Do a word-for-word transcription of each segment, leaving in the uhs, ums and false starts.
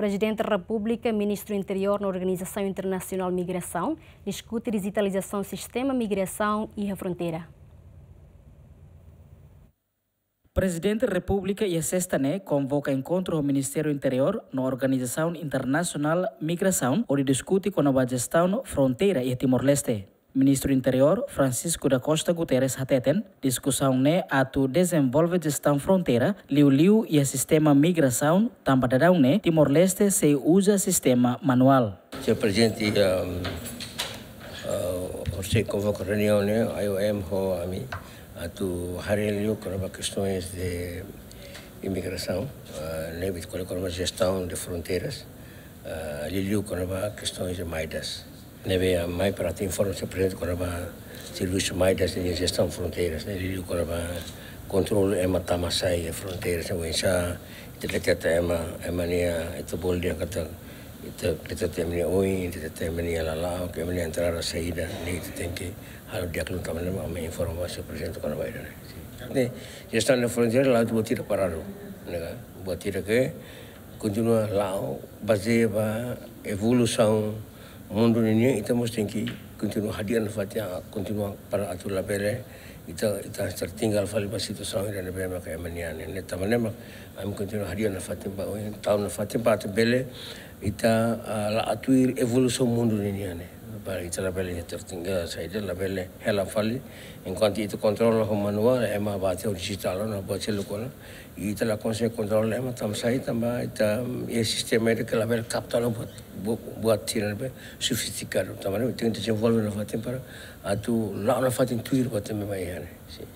Prezidente Repúblika, Ministru Interiór no Organizasaun Internasionál Migrasaun diskute dijitalizasaun sistema migrasaun iha fronteira. Prezidente Repúblika iha sesta ne'e konvoka enkontru ho Ministériu Interiór no Organizasaun Internasionál Migrasaun hodi diskute kona-ba jestaun fronteira iha Timor-Leste. Ministru Interiór Francisco da Costa Guterres hateten, diskusaun ne'e atu dezenvolve jestaun fronteira, liuliu iha sistema migrasaun, tanba daudaun ne'e Timor-Leste sei uza sistema manuál. Señór Prezidente, um, uh, horiseik konvoka reuniaun ne'e, I O M ho ami, atu haree liu kona-ba kestaun de imigrasaun, uh, ne'ebé ko'alia kona-ba jestaun de fronteiras, uh, liuliu kona-ba kestaun de Midas. Ne'ebé ami mai para atu informa Señór Prezidente kona-ba servisu Midas de jestaun fronteiras, ne'e liuliu kona-ba kontrolu ema tama sai iha fronteiras, ne'e oinsá ita deteta ema, ema nia, ita bolu dehan katak ita, ita deteta ema nia oin, ita deteta ema nia lala'ok, ema nia entrada saida, ne'e ita tenke halo di'ak liu, tanba ne'e ami informa Señór Prezidente kona-ba ida-ne'e. Ne'e, jestaun de fronteira la'o atu buat ida paradu, ne'e ka? Buat ida ke kontinua la'o, bazeia ba evolusaun mundu ninian, ita mós tenke kontinua hadi'a nafatin, ah, kontinua para atu labele ita, ita tertinggal fali ba situasaun ida ne'ebé maka ema nian ne'e. Ne'e tanba ne'e mak ami kontinua hadi'a nafatin ba oin, tau nafatin ba atu bele ita, ah, la'o tuir evolusaun mundu ninian ne'e. Para ita labele tertinggal, saida labele hela fali. Enkuantu ita kontrola ho manuál, ema bá tiha digital ona, buat seluk ona. Ita la konsege kontrola ema tama sai, tanba ita, mm, iha sistema ida ke labele kapta ona buat, bu-, buat sira ne'ebé sofistikadu. Tanba ne'e ita tenke dezenvolve nafatin para atu la'o nafatin tuir buat ne'ebé mak iha ne'e. Sin.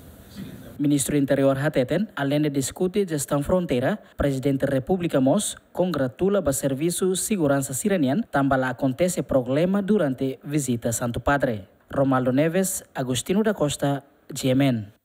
Ministru Interiór hateten, aleinde diskute jestaun fronteira, Prezidente Repúblika mós kongratula ba servisu seguransa sira-nian, tanba la akontese problema durante vizita Santu Padre. Romaldo Neves, Agostinho da Costa, G M N.